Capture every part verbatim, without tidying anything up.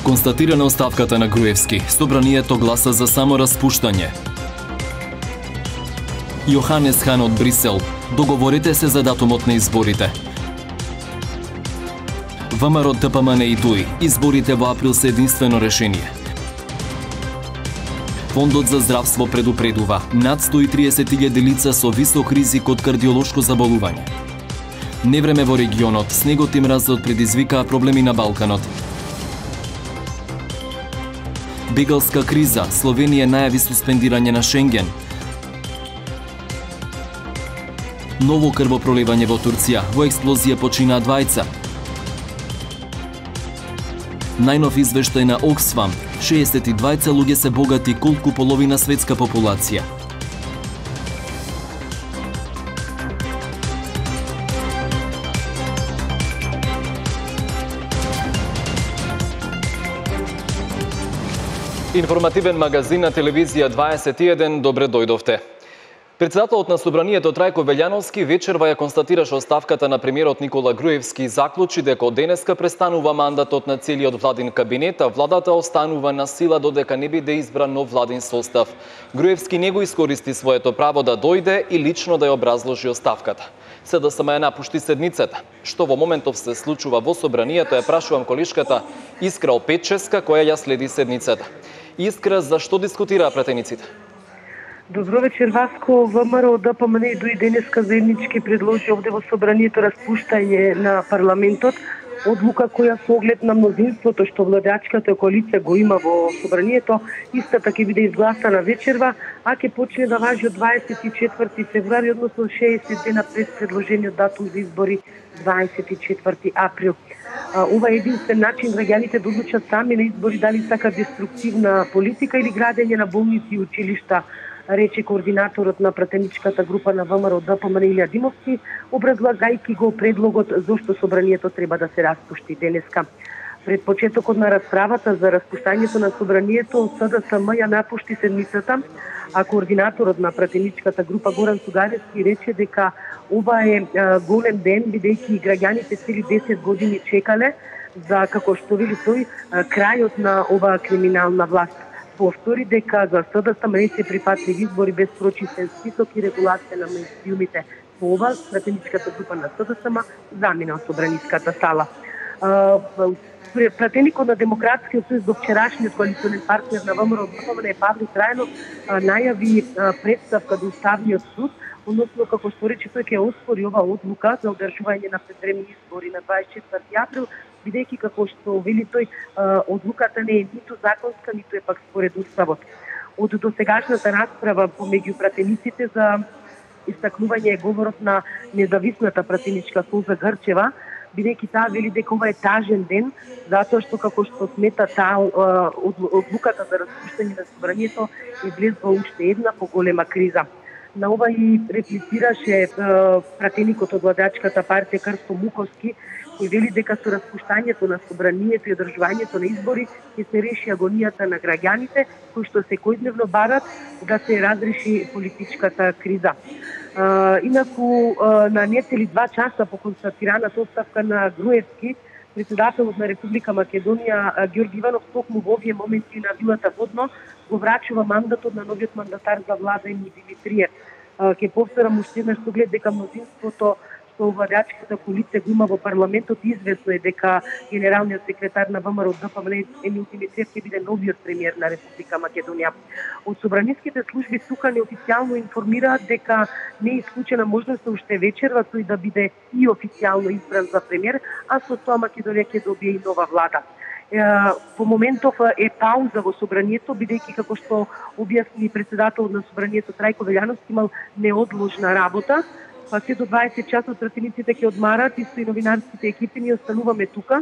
Констатирана оставката на Груевски, собранието гласа за само распуштање. Јоханес Хан од Брисел, договорите се за датумот на изборите. ВМРО Д П М Н и ДУИ, изборите во април се единствено решение. Фондот за здравство предупредува над сто и триесет илјади лица со висок ризик од кардиолошко заболување. Невреме во регионот, снегот и мразот предизвикаа проблеми на Балканот. Бегалска криза, Словенија најави суспендирање на Шенген. Ново крвопроливање во Турција, во експлозија починаа двајца. Најнов извештај на Оксфам, шеесет и двајца луѓе се богати колку половина светска популација. Информативен магазин на телевизија дваесет и еден, добре дојдовте. Председателот на Собранието Трајко Велјановски вечерва ја констатираше оставката на премиерот Никола Груевски и заклучи дека од денеска престанува мандатот на целиот владин кабинет, а владата останува на сила додека не биде избран нов владин состав. Груевски не го искористи своето право да дојде и лично да ја образложи оставката. Се да сама ја напушти седницата. Што во моментов се случува во Собранието, ја прашувам колишката Искра Опетческа, која ја следи седницата. Искра, зашто дискутираа пратениците? Добро вечер, Васко. ВМРО Д П М Н и ДУИ денеска заеднички предложи овде во Собранието распуштање на парламентот, одлука која со оглед на мнозинството што владеачката коалиција го има во Собранието, истата ќе биде изгласана вечерва, а ќе почне да важи од дваесет и четврти февруари, односно шеесет дена пред предложениот датум за избори дваесет и четврти април. Ова е единствен начин граѓаните да одлучат сами на избори дали сака деструктивна политика или градење на болници и училишта, рече координаторот на пратеничката група на ВМРО Д П М Н Илија Димовски, образлагајќи го предлогот зошто Собранието треба да се распушти денеска. Пред почетокот на расправата за распуштањето на Собранието, С Д С М ја напушти седмицата, а координаторот на пратеничката група Горан Сугаревски рече дека ова е голем ден, бидејќи граѓаните цели десет години чекале за, како што вели тој, крајот на оваа криминална власт. Повтори дека за С Д С М не се прифатливи избори без прочистен список и регулација на меѓусилумите. По ова, пратеничката група на С Д С М замина од Собраниската сала. Пратеникот на Демократскиот сојуз до вчерашниот коалиционен партнер на ВМРО Д П М Н Павле Трајанов најави представка до Уставниот суд, односно како што рече тој ќе оспори ова одлука за одржување на предвремени избори на дваесет и четврти април, бидејќи како што вели тој, одлуката не е ниту законска, ниту е пак според уставот. Од досегашната расправа помеѓу пратениците за истакнување е говорот на независната пратеничка Суза Грчева, бидејќи таа вели дека ова е тажен ден, затоа што како што смета таа одлуката за распуштање на Собранието е влезла уште една поголема криза. На ова и реплицираше пратеникот од владеачката партија Крсто Муковски, кој вели дека со распуштањето на Собранието и одржувањето на избори ќе се реши агонијата на граѓаните, кои што секојдневно барат да се разреши политичката криза. Uh, инаку, uh, на нецели два часа по констатираната оставка на Груевски, председателот на Република Македонија Ѓорги Иванов токму во овие моменти на вилата Водно го врачува мандатот на новиот мандатар за влада Емил Димитриев. Uh, ке повторам уште еднаш со оглед дека мнозинството што владеачката коалиција го има во парламентот, известно е дека генералниот секретар на ВМРО Д П М Н Емил Димитриев ќе биде новиот премиер на Република Македонија. Од собраниските служби СУКА неофицијално информираат дека не е исклучена можноста уште вечерва тој да биде и официјално избран за премиер, а со тоа Македонија ќе добие и нова влада. По моментов е пауза во Собранието, бидејќи како што објасни председателот на Собранието Трајко Велјановски имал неодложна работа, па се до дваесет часот пратениците ќе одмарат, исто и новинарските екипи. Ние остануваме тука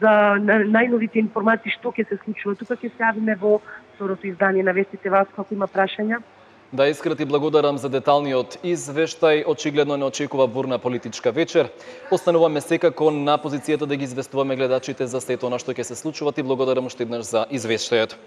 за најновите информации што ќе се случува. Тука ќе се јавиме во второто издание на вестите. Васко, ако има прашања. Да, Искра, ти благодарам за деталниот извештај. Очигледно не очекува бурна политичка вечер. Остануваме секако на позицијата да ги известуваме гледачите за сето она што ќе се случува. Ти благодарам уште еднаш за извештајот.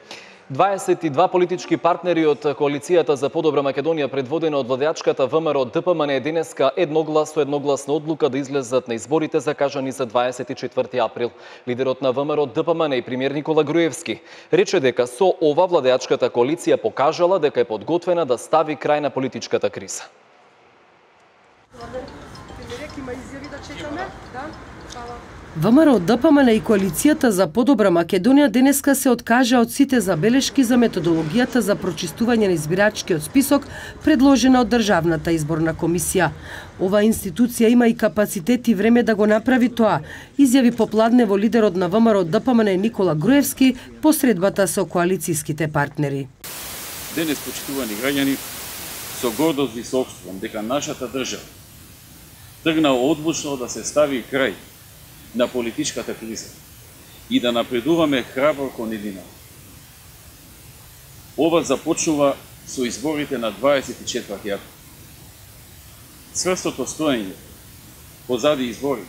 дваесет и два политички партнери од коалицијата за подобра Македонија, предводена од владеачката ВМРО ДПМН, денеска едногласно едногласна одлука да излезат на изборите закажани за дваесет и четврти април. Лидерот на ВМРО ДПМН и премиер Никола Груевски рече дека со ова владеачката коалиција покажала дека е подготвена да стави крај на политичката криза. ВМРО ДПМН и коалицијата за подобра Македонија денеска се откажа од сите забелешки за методологијата за прочистување на избирачкиот список предложена од Државната изборна комисија. Ова институција има и капацитет и време да го направи тоа, изјави попладнево лидерот на ВМРО ДПМН Никола Груевски по средбата со коалицијските партнери. Денес, почитувани граѓани, со гордост ви соопштувам дека нашата држава тргна одлучно да се стави крај на политичката криза и да напредуваме храбро кон едина. Ова започнува со изборите на дваесет и четврти април. Цврстото стоење позади избори,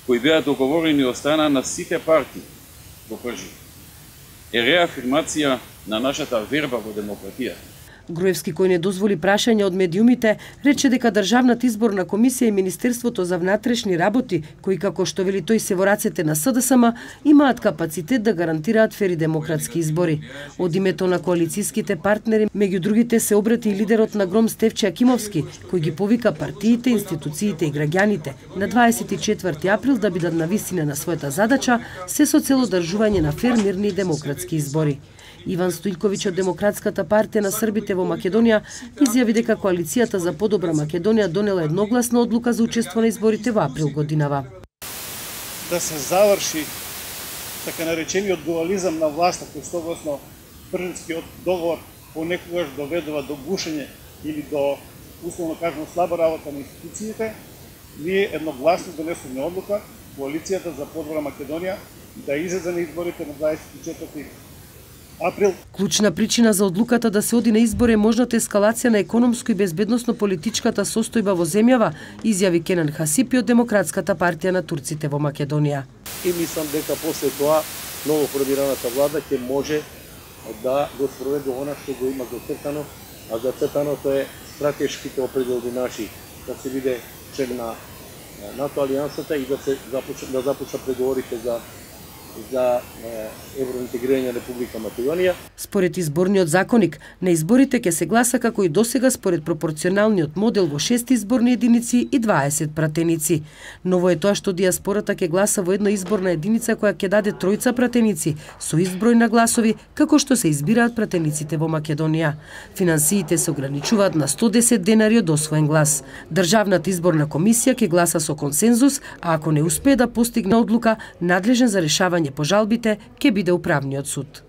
кои беа договорени од страна на сите партии во пржи, е реафирмација на нашата верба во демократија. Груевски, кој не дозволи прашање од медиумите, рече дека Државната изборна комисија и Министерството за внатрешни работи, кои како што вели тој се во рацете на СДСМ, имаат капацитет да гарантираат фери демократски избори. Од името на коалицијските партнери, меѓу другите се обрати и лидерот на Гром Стефче Акимовски, кој ги повика партиите, институциите и граѓаните на дваесет и четврти април да бидат на висина на својата задача, се со цел одржување на фер, мирни и демократски избори. Иван Стојковиќ од Демократската партија на србите во Македонија изјави дека коалицијата за подобра Македонија донела едногласна одлука за учество на изборите во април годинава. Да се заврши така наречениот дуализам на власта, кој согласно Пржинскиот договор понекогаш доведува до гушење или до, условно кажано, слаба работа на институциите, ние едногласно донесуваме одлука коалицијата за подобра Македонија да излезе на изборите на дваесет и четврти април. Клучна причина за одлуката да се оди на избори е можната ескалација на економско и безбедносно-политичката состојба во земјава, изјави Кенан Хасипи од Демократската партија на турците во Македонија. И мислам дека после тоа ново формираната влада ќе може да го спроведе она што го има зацртано, а зацртаното е стратешките определи наши да се биде член на НАТО алијансата и да се започне да започна преговорите за за евроинтегрирање на Република Македонија. Според изборниот законник, на изборите ќе се гласа како и досега според пропорционалниот модел во шест изборни единици и дваесет пратеници. Ново е тоа што дијаспората ќе гласа во една изборна единица која ќе даде тројца пратеници со ист број на гласови како што се избираат пратениците во Македонија. Финансиите се ограничуваат на сто десет денари од освоен глас. Државната изборна комисија ќе гласа со консензус, а ако не успее да постигне одлука, надлежен за решавање по жалбите ќе биде управниот суд.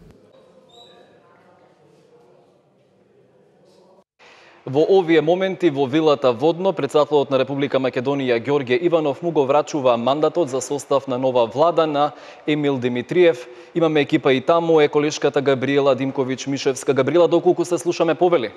Во овие моменти во вилата Водно, претседателот на Република Македонија Ѓорѓе Иванов му го врачува мандатот за состав на нова влада на Емил Димитриев. Имаме екипа и таму, е колешката Габриела Димковиќ-Мишевска. Габриела, доколку се слушаме, повели?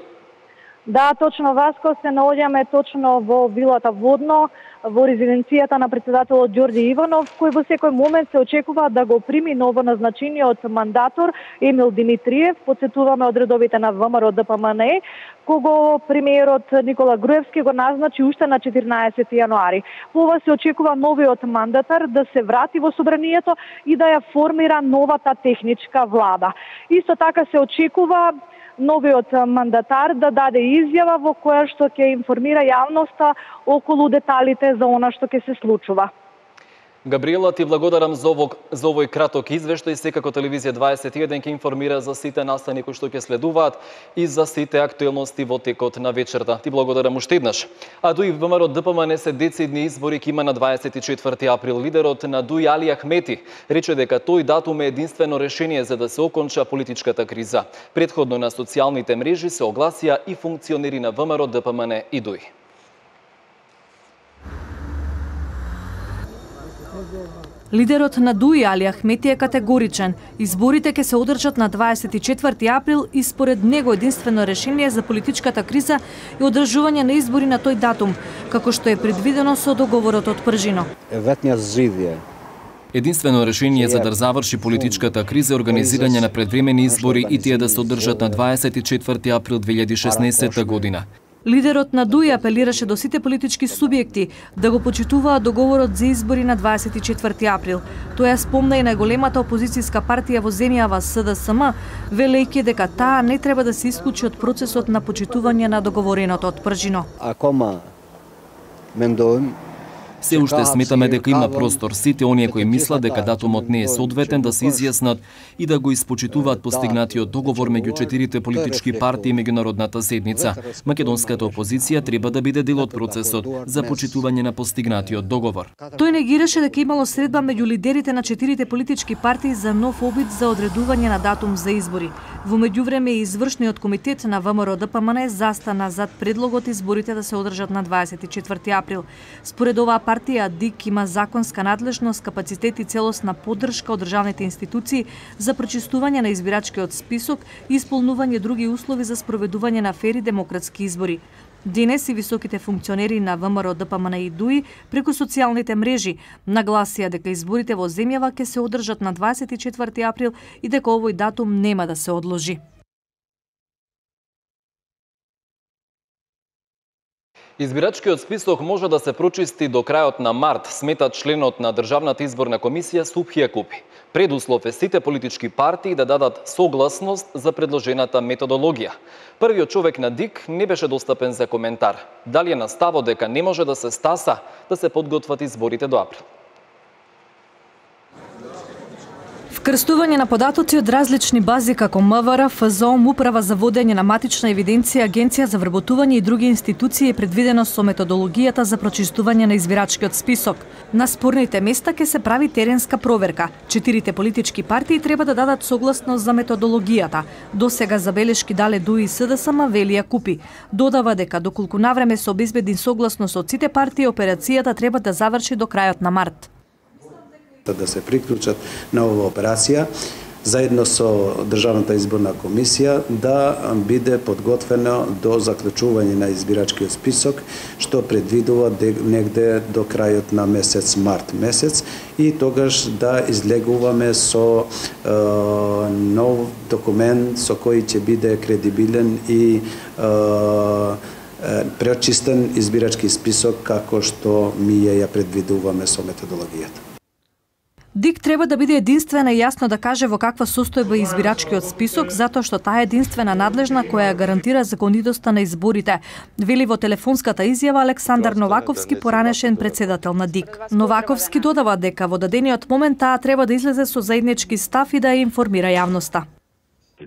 Да, точно, Васко, се наоѓаме точно во вилата Водно, во резиденцијата на претседателот Ѓорѓе Иванов, кој во секој момент се очекува да го прими ново назначениот мандатор Емил Димитриев. Подсетуваме од редовите на ВМРО ДПМН, кого премиерот Никола Груевски го назначи уште на четирнаесети јануари. По ова се очекува новиот мандатар да се врати во собранието и да ја формира новата техничка влада. Исто така се очекува новиот мандатар да даде изјава во која што ќе информира јавноста околу деталите за она што ќе се случува. Габриела, ти благодарам за, ово, за овој краток извештај. Секако телевизија дваесет и еден ќе информира за сите настани кои што ќе следуваат и за сите актуелности во текот на вечерта. Ти благодарам уште еднаш. А ДУИ ВМРО ДПМН се децидни избори ќе има на дваесет и четврти април. Лидерот на ДУИ Али Ахмети рече дека тој датум е единствено решение за да се оконча политичката криза. Претходно на социјалните мрежи се огласија и функционери на ВМРО ДПМН и ДУИ. Лидерот на ДУИ Али Ахмети е категоричен. Изборите ќе се одржат на дваесет и четврти април и според него единствено решение за политичката криза е одржување на избори на тој датум, како што е предвидено со договорот од Пржино. Ветниот зид е Единствено решение за да заврши политичката криза е организирање на предвремени избори и тие да се одржат на дваесет и четврти април две илјади и шеснаесетта година. Лидерот на ДУИ апелираше до сите политички субјекти да го почитуваат договорот за избори на дваесет и четврти април. Тоа спомна и најголемата опозицијска партија во земјава С Д С М, велејќи дека таа не треба да се исклучи од процесот на почитување на договореното од Пржино. Акома мендоим Се уште сметаме дека има простор сите оние кои мислат дека датумот не е соодветен да се изјаснат и да го испочитуваат постигнатиот договор меѓу четирите политички партии и меѓународната заедница. Македонската опозиција треба да биде дел од процесот за почитување на постигнатиот договор. Тој негираше дека имало средба меѓу лидерите на четирите политички партии за нов обид за одредување на датум за избори. Во меѓувреме и извршниот комитет на В М Р Д П М Н застана зад предлогот изборите да се одржат на дваесет и четврти април. Според оваа партија ДИК има законска надлежност, капацитет и целосна поддршка од државните институции за прочистување на избирачкиот список и исполнување други услови за спроведување на фери демократски избори. Денес и високите функционери на В М Р Д П М Н и ДУИ преку социјалните мрежи нагласија дека изборите во земјава ќе се одржат на дваесет и четврти април и дека овој датум нема да се одложи. Избирачкиот список може да се прочисти до крајот на март, смета членот на Државната изборна комисија Субхи Јакупи. Предуслов е сите политички партии да дадат согласност за предложената методологија. Првиот човек на ДИК не беше достапен за коментар. Дали е на ставот дека не може да се стаса да се подготват изборите до април? Вкрстување на податоци од различни бази како М В Р, Ф З О М, Управа за водење на матична евиденција, Агенција за вработување и други институции е предвидено со методологијата за прочистување на избирачкиот список. На спорните места ќе се прави теренска проверка. Четирите политички партии треба да дадат согласност за методологијата. До сега забелешки дале ДУИ и С Д С М, вели Јакупи. Додава дека доколку навреме се обезбеди согласност од сите партии, операцијата треба да заврши до крајот на март. Да се приклучат на оваа операција, заедно со Државната изборна комисија, да биде подготвено до заклучување на избирачкиот список, што предвидува негде до крајот на месец март месец, и тогаш да излегуваме со е, нов документ со кој ќе биде кредибилен и е, преочистен избирачки список како што ми ја предвидуваме со методологијата. ДИК треба да биде единствена и јасно да каже во каква состојба е избирачкиот список, затоа што таа е единствена надлежна која гарантира законитоста на изборите, вели во телефонската изјава Александар Новаковски, поранешен председател на ДИК. Новаковски додава дека во дадениот момент таа треба да излезе со заеднички став и да ја информира јавноста.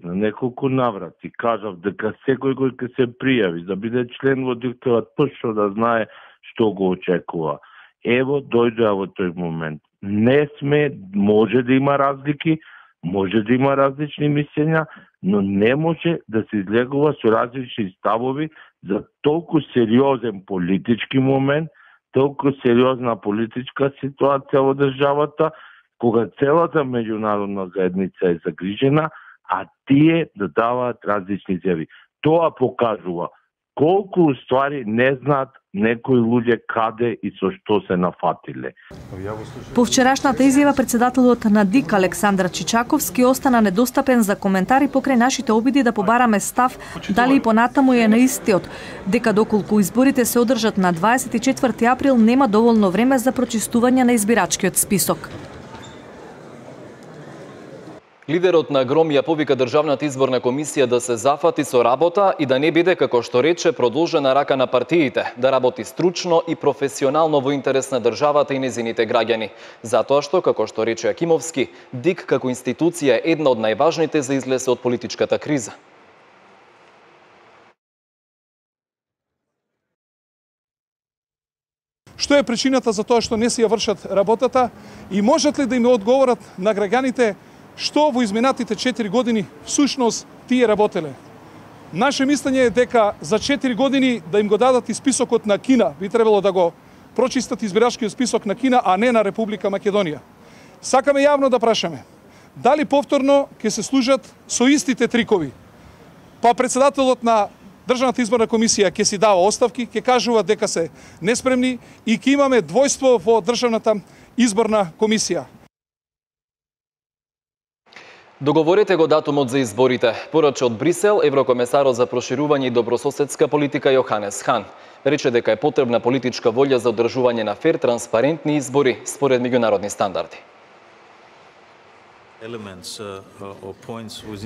На неколку наврати кажав дека секој кој ќе се пријави да биде член во ДИК треба точно да знае што го очекува. Ево, дојдоа во тој момент. Не сме, може да има разлики, може да има различни мислења, но не може да се излегува со различни ставови за толку сериозен политички момент, толку сериозна политичка ситуација во државата, кога целата меѓународна заедница е загрижена, а тие да даваат различни изјави. Тоа покажува колку уствари не знаат некои луѓе каде и со што се нафатиле. По вчерашната изјава председателот на ДИК Александар Чичаковски остана недостапен за коментари покрај нашите обиди да побараме став дали и понатаму е на истиот, дека доколку изборите се одржат на дваесет и четврти април нема доволно време за прочистување на избирачкиот список. Лидерот на ГРОМ ја повика Државната изборна комисија да се зафати со работа и да не биде, како што рече, продолжена рака на партиите, да работи стручно и професионално во интерес на државата и незините граѓани. Затоа што, како што рече Јакимовски, ДИК како институција е една од најважните за излез од политичката криза. Што е причината за тоа што не си ја вршат работата и можат ли да им одговорат на граѓаните што во изминатите четири години всушност тие работеле? Наше мислење е дека за четири години да им го дадат и списокот на Кина, би требало да го прочистат избирачкиот список на Кина, а не на Република Македонија. Сакаме јавно да прашаме, дали повторно ќе се служат со истите трикови? Па председателот на Државната изборна комисија ќе си дава оставки, ќе кажува дека се неспремни и ќе имаме двојство во Државната изборна комисија. Договорете го датумот за изборите. Порача од Брисел, еврокомесарот за проширување и добрососедска политика Јоханес Хан рече дека е потребна политичка волја за одржување на фер, транспарентни избори според меѓународни стандарди.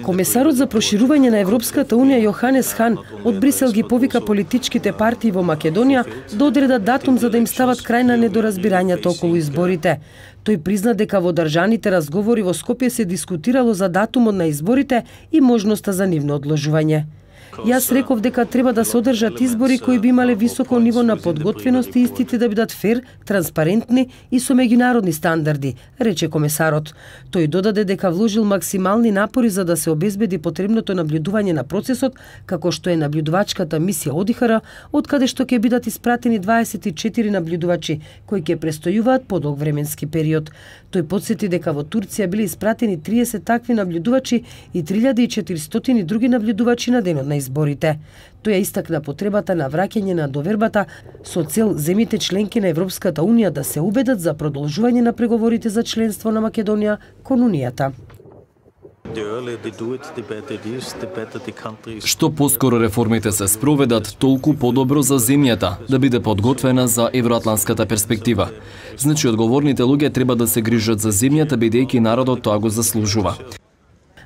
Комесарот за проширување на Европската унија Јоханес Хан од Брисел ги повика политичките партии во Македонија да одредат датум за да им стават крај на недоразбирањата околу изборите. Тој призна дека во држаните разговори во Скопје се дискутирало за датумот на изборите и можноста за нивно одложување. Јас реков дека треба да се одржат избори кои би имале високо ниво на подготвеност и истите да бидат фер, транспарентни и со меѓународни стандарди, рече комесарот. Тој додаде дека вложил максимални напори за да се обезбеди потребното наблюдување на процесот, како што е наблюдувачката мисија ОДИХР, од каде што ќе бидат испратени дваесет и четири наблюдувачи, кои ќе престојуваат подолг временски период. Тој потсети дека во Турција биле испратени триесет такви наблюдувачи и три илјади и четиристотини други наблюдувачи на денот на изборите. Тој ја истакна потребата на враќање на довербата со цел земите членки на Европската унија да се убедат за продолжување на преговорите за членство на Македонија кон унијата. Што поскоро реформите се спроведат, толку подобро за земјата, да биде подготвена за евроатланската перспектива. Значи, одговорните луѓе треба да се грижат за земјата, бидејќи народот тоа го заслужува.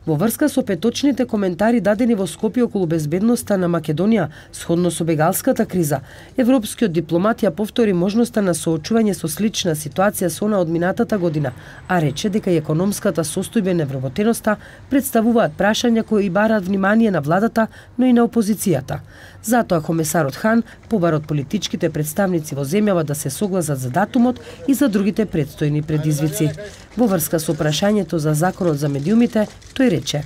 Во врска со петочните коментари дадени во Скопје околу безбедноста на Македонија, сходно со бегалската криза, европскиот дипломат ја повтори можноста на соочување со слична ситуација со она од минатата година, а рече дека и економската состојба и невработеноста представуваат прашања кои бараат внимание на владата, но и на опозицијата. Затоа комесарот Хан побара од политичките представници во земјава да се согласат за датумот и за другите предстојни предизвици. Во врска со прашањето за законот за медиумите, тој рече: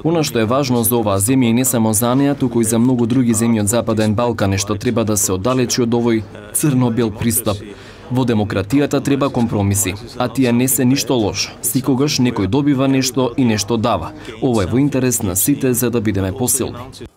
Она што е важно за оваа земја и не само за неа, туку и за многу други земји од Западен Балкан е што треба да се оддалечи од овој црно-бел пристап. Во демократијата треба компромиси, а тие не се ништо лошо. Секогаш некој добива нешто и нешто дава. Ова е во интерес на сите за да бидеме посилни.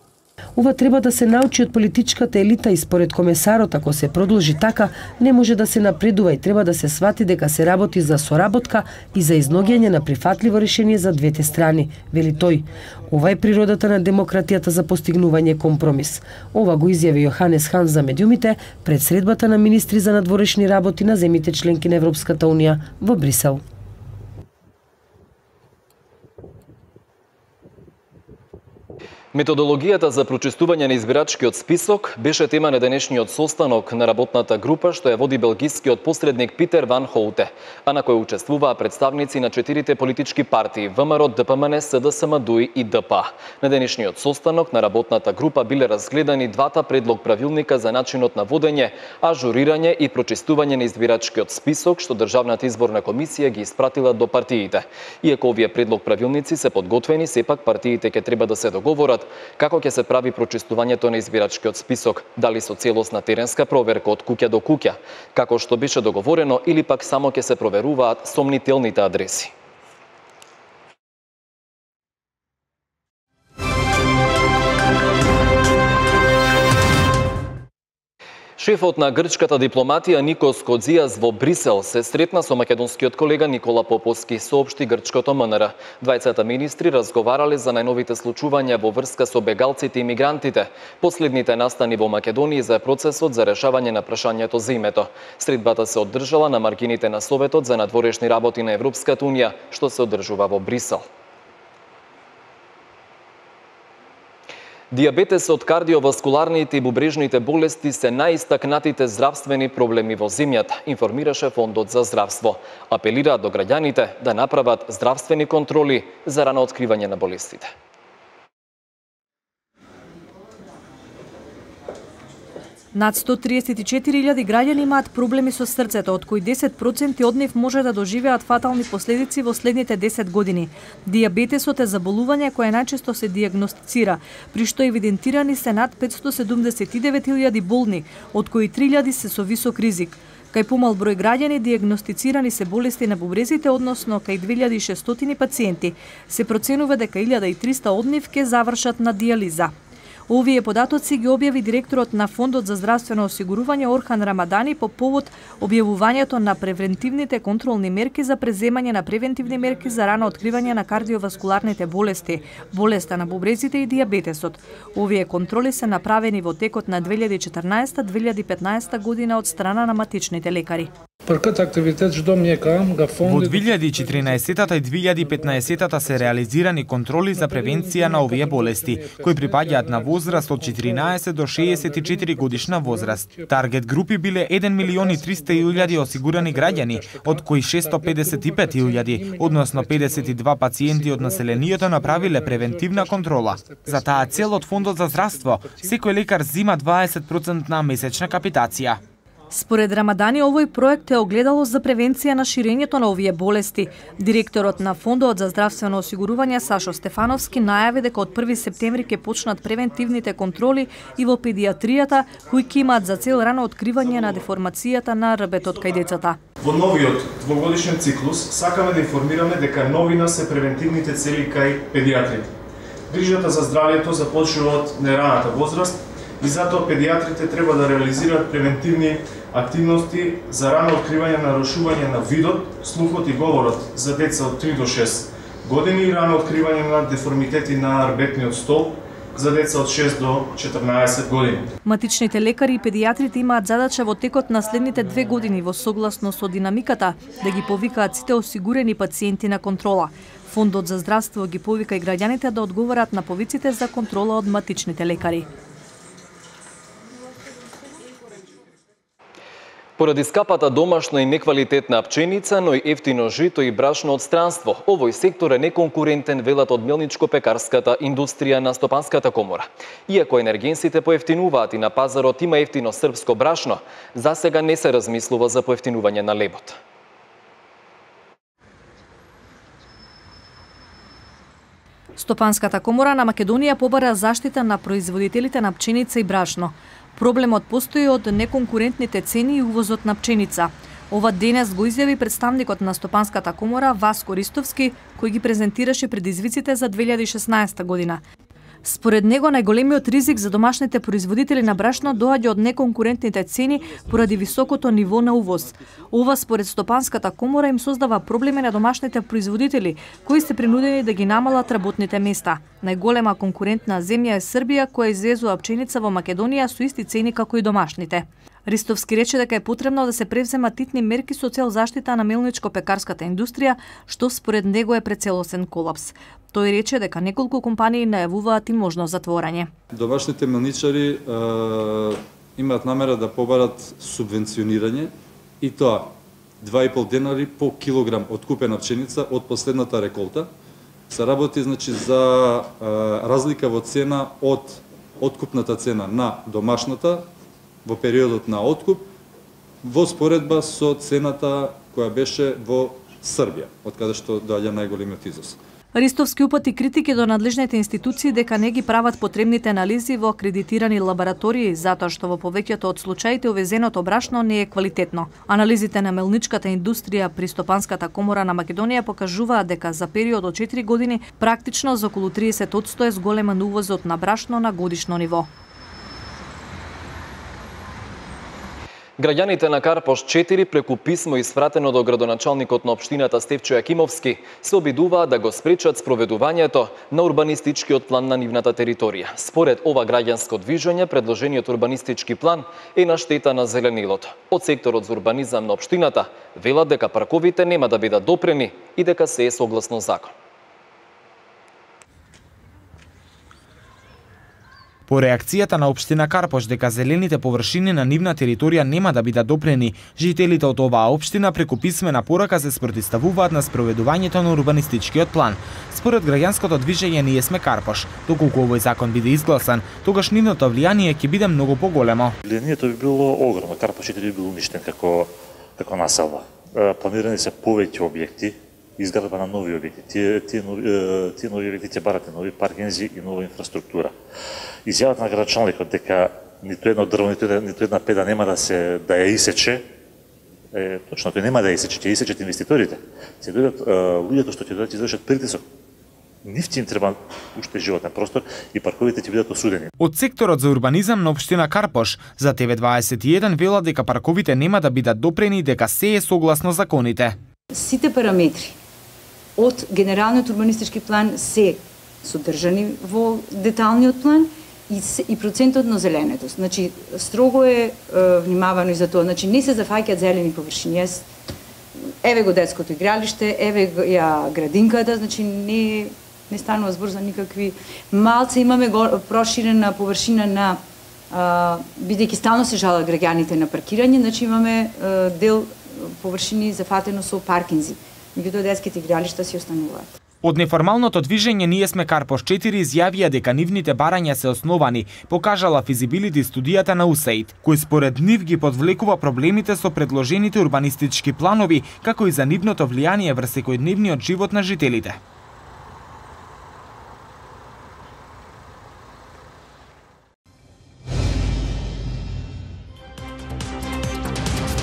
Ова треба да се научи од политичката елита и според комесарот, ако се продолжи така, не може да се напредува и треба да се свати дека се работи за соработка и за изноѓање на прифатливо решение за двете страни, вели тој. Ова е природата на демократијата за постигнување компромис. Ова го изјави Јоханес Хан за медиумите пред средбата на министри за надворешни работи на земите членки на Европската унија во Брисел. Методологијата за прочистување на избирачкиот список беше тема на денешниот состанок на работната група што ја води белгискиот посредник Питер Ван Хоуте, а на кој учествуваа представници на четирите политички партии ВМРО, ДПМН, СДСМ, ДУИ и ДП. На денешниот состанок на работната група биле разгледани двата предлог правилника за начинот на водење, ажурирање и прочистување на избирачкиот список што Државната изборна комисија ги испратила до партиите. Иако овие предлог правилници се подготвени, сепак партиите ќе треба да се договорат како ќе се прави прочистувањето на избирачкиот список, дали со целосна теренска проверка од куќа до куќа, како што беше договорено, или пак само ќе се проверуваат сомнителните адреси. Шефот на грчката дипломатија Никос Кодзијас во Брисел се сретна со македонскиот колега Никола Поповски, соопшти грчкото МНР. Двајцата министри разговарале за најновите случувања во врска со бегалците и мигрантите, последните настани во Македонија за процесот за решавање на прашањето за името. Средбата се одржала на маргините на Советот за надворешни работи на Европската унија, што се одржува во Брисел. Дијабетесот, кардиоваскуларните и бубрежните болести се најистакнатите здравствени проблеми во земјата, информираше Фондот за здравство. Апелира до граѓаните да направат здравствени контроли за рано откривање на болестите. Над сто триесет и четири илјади граѓани имаат проблеми со срцето, од кои десет проценти од нив може да доживеат фатални последици во следните десет години. Дијабетесот е заболување кое најчесто се дијагностицира, при што евидентирани се над петстотини седумдесет и девет илјади болни, од кои три илјади се со висок ризик. Кај помал број граѓани дијагностицирани се болести на бубрезите, односно кај две илјади и шестстотини пациенти, се проценува дека илјада и триста од нив ќе завршат на дијализа. Овие податоци ги објави директорот на Фондот за здравствено осигурување Орхан Рамадани по повод објавувањето на превентивните контролни мерки за преземање на превентивни мерки за рано откривање на кардиоваскуларните болести, болеста на бубрезите и дијабетесот. Овие контроли се направени во текот на две илјади и четрнаесета - две илјади и петнаесета година од страна на матичните лекари. Во две илјади и четрнаесета и две илјади и петнаесета се реализирани контроли за превенција на овие болести, кои припаѓаат на возраст од четиринаесет до шеесет и четири годишна возраст. Таргет групи биле еден милион и триста илјади осигурани граѓани, од кои шестстотини и педесет и пет илјади, односно педесет и два пациенти од населението направиле превентивна контрола. За таа цел од Фондот за здравство, секој лекар зима дваесет проценти месечна капитација. Според Рамадани, овој проект е огледало за превенција на ширењето на овие болести. Директорот на Фондот за здравствено осигурување Сашо Стефановски најави дека од први септември ќе почнат превентивните контроли и во педијатријата, кои ќе имаат за цел рано откривање на деформацијата на рбетот кај децата. Во новиот двогодишен циклус сакаме да информираме дека новина се превентивните цели кај педијатрите. Грижата за здравјето започнува од нераната возраст и затоа педијатрите треба да реализираат превентивни активности за рано откривање на нарушување на видот, слухот и говорот за деца од три до шест години и рано откривање на деформитети на рбетниот столб за деца од шест до четрнаесет години. Матичните лекари и педијатрите имаат задача во текот на следните две години во согласно со динамиката да ги повикаат сите осигурени пациенти на контрола. Фондот за здравство ги повика и граѓаните да одговарат на повиците за контрола од матичните лекари. Поради скапата домашна и неквалитетна пченица, но и ефтино жито и брашно од странство, овој сектор е неконкурентен, велат од мелничко-пекарската индустрија на Стопанската комора. Иако енергенсите поевтинуваат и на пазарот има ефтино српско брашно, засега не се размислува за поевтинување на лебот. Стопанската комора на Македонија побара заштита на производителите на пченица и брашно. Проблемот постои од неконкурентните цени и увозот на пченица. Ова денес го изјави представникот на Стопанската комора Васко Ристовски, кој ги презентираше предизвиците за две илјади и шеснаесета година. Според него, најголемиот ризик за домашните производители на брашно доаѓа од неконкурентните цени поради високото ниво на увоз. Ова, според Стопанската комора, им создава проблеми на домашните производители, кои се принудени да ги намалат работните места. Најголема конкурентна земја е Србија, која извезува пченица во Македонија со исти цени како и домашните. Ристовски рече дека е потребно да се превземат титни мерки со цел заштита на мелничко-пекарската индустрија, што според него е пред целосен колапс. Тој рече дека неколку компании најавуваат и можно затворање. Домашните мелничари е, имаат намера да побарат субвенционирање и тоа два и пол денари по килограм откупена пченица од последната реколта. Се работи значи за е, разлика во цена од откупната цена на домашната во периодот на откуп во споредба со цената која беше во Србија, од каде што доаѓа најголемиот изvoz. Ристовски упати критики до надлежните институции дека не ги прават потребните анализи во акредитирани лаборатории затоа што во повеќето од случаите увезеното брашно не е квалитетно. Анализите на мелничката индустрија при Стопанската комора на Македонија покажуваат дека за период од четири години практично за околу триесет одсто е зголемен увозот на брашно на годишно ниво. Граѓаните на Карпош четири преку писмо испратено до градоначалникот на општината Стефчо Јакимовски се обидуваат да го спречат спроведувањето на урбанистичкиот план на нивната територија. Според ова граѓанско движење, предложениот урбанистички план е на штета на зеленилото. Од секторот за урбанизам на општината велат дека парковите нема да бидат допрени и дека се е согласно закон. По реакцијата на општина Карпош дека зелените површини на нивна територија нема да бидат допрени, жителите од оваа општина преку писмена порака се спротивставуваат на спроведувањето на урбанистичкиот план. Според граѓанското движење Ние сме Карпош, доколку овој закон биде изгласан, тогаш нивното влијание ќе биде многу поголемо. Влијанието би било огромно, Карпош четири би бил уништен како како населба. Планирани се повеќе објекти, изградба на нови објекти. Тие тие нови, тие нови објекти ќе барате нови паркинзи и нова инфраструктура. Изјавата на градоначалникот дека ниту едно дрво, ниту една, ниту една педа нема да се да ја исече, е точно, тој нема да ја исече, ќе исечат инвеститорите. Ќе дојдат луѓето што ќе дојдат извршат притисок нивти им треба уште животен простор и парковите ќе бидат осудени. Од секторот за урбанизам на општина Карпош за Т В дваесет и еден велат дека парковите нема да бидат допрени и дека се е согласно законите. Сите параметри од генералниот урбанистички план се содржани во деталниот план и, и процентот на зеленетост. Значи, строго е, е внимавано и за тоа. Значи, не се зафаќаат зелени површини. Еве го детското игралиште, еве ја градинката, значи не, не станува збор за никакви. Малце имаме го, проширена површина на, а, бидејќи стално се жалат граѓаните на паркирање, значи имаме а, дел површини зафатено со паркинзи. Меѓутоа детските игралишта си остануваат. Од неформалното движење Ние сме Карпош четири изјавија дека нивните барања се основани, покажала физибилити студијата на У С А И Д, кој според нив ги подвлекува проблемите со предложените урбанистички планови, како и за нивното влијание врз секојдневниот живот на жителите.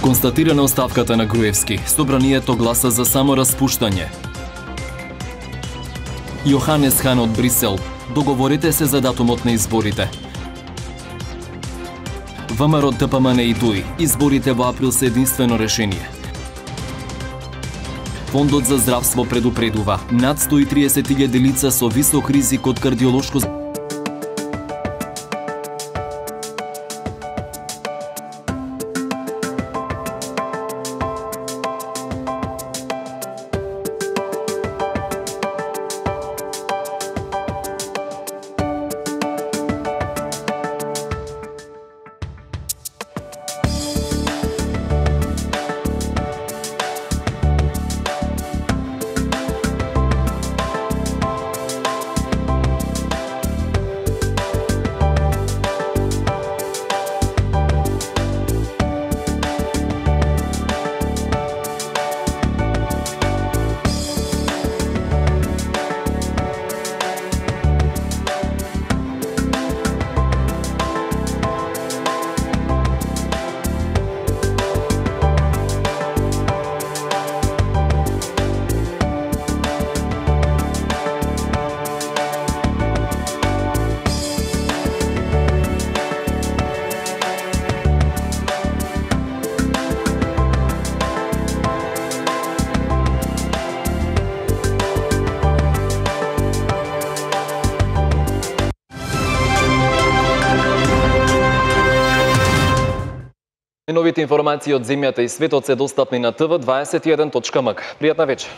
Констатирана оставката на Груевски, собранието гласа за само распуштање. Јоханес Хан од Брисел, договорите се за датумот на изборите. ВМРО Д П М Н и Д У И, изборите во април се единствено решение. Фондот за здравство предупредува, над сто и триесет илјади лица со висок ризик од кардиолошко Новите информации од земјата и светот се достапни на Т В дваесет и еден точка М К. Пријатна вечер.